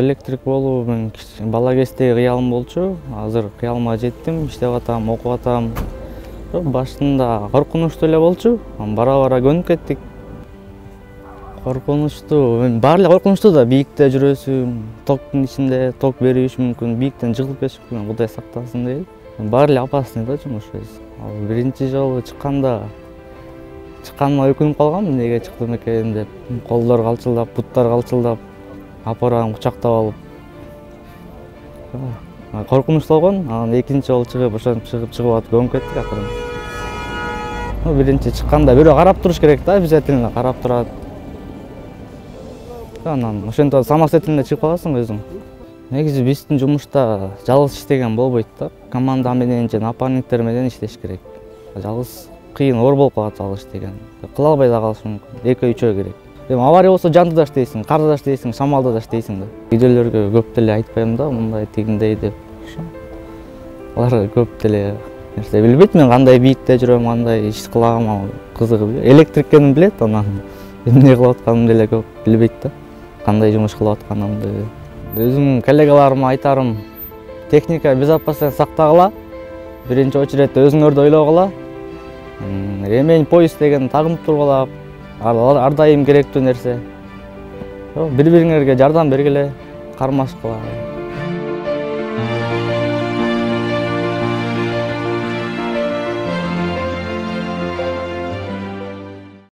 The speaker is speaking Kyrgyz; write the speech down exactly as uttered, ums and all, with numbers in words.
электрик болуу мен бала кездеги кыялым болчу. Азыр кыялыма жеттим, иштеп атам, окуп атам. Башында коркунучтуу эле болчу. Бара-бара көнүп кеттик. Коркунучтуу, мен баары эле коркунучтуу да, бийикте жүрөсүң, токтун ичинде ток бериши мүмкүн, бийиктен жыгылып кетиши мүмкүн, Кудай сактасын дейт. Баары эле опасный да жумуш. Ал биринчи жолу чыкканда чыкканыма өкүнүп калгам, эмнеге чыктым экен деп. Колдор калчылдап, буттар калчылдап, апарам кучактап алып. Коркунучтуу болгон, анан экинчи жолу чыгып, ошентип чыгып чыгып атып көнүп кеттик акырын. Биринчи чыкканда бирөө карап туруш керек да, обязательно карап турат. Анан ошентип самостоятельно чыгып каласың өзүң. Негизи биздин жумушта жалгыз иштеген болбойт да. Команда менен же напарниктер менен иштеш керек. Жалгыз кыйын, оор болуп калат жалгыз иштеген. Кыла албай да калышы мүмкүн. Экөө үчөө керек. Эми авария болсо жанды да иштейсиң, карда да иштейсиң, шамалда да иштейсиң да. Үйдөлөргө көп деле айтпайм да, мындай тигиндей деп. Алар көп деле нерсе билбейт, мен кандай бийикте жүрөм, кандай иш кылам, кызыгып. Электрик экенин билет, анан эмне кылып атканымды деле көп билбейт да. Кандай жумуш кылып атканымды. Өзүмдүн коллегаларыма айтарым, техника безопасность сактагыла, биринчи очередте өзүңөрдү ойлогула, ремень, пояс деген тагынып тургула, ар дайым керектүү нерсе. Бири-бириңерге жардам бергиле, кармашкыла.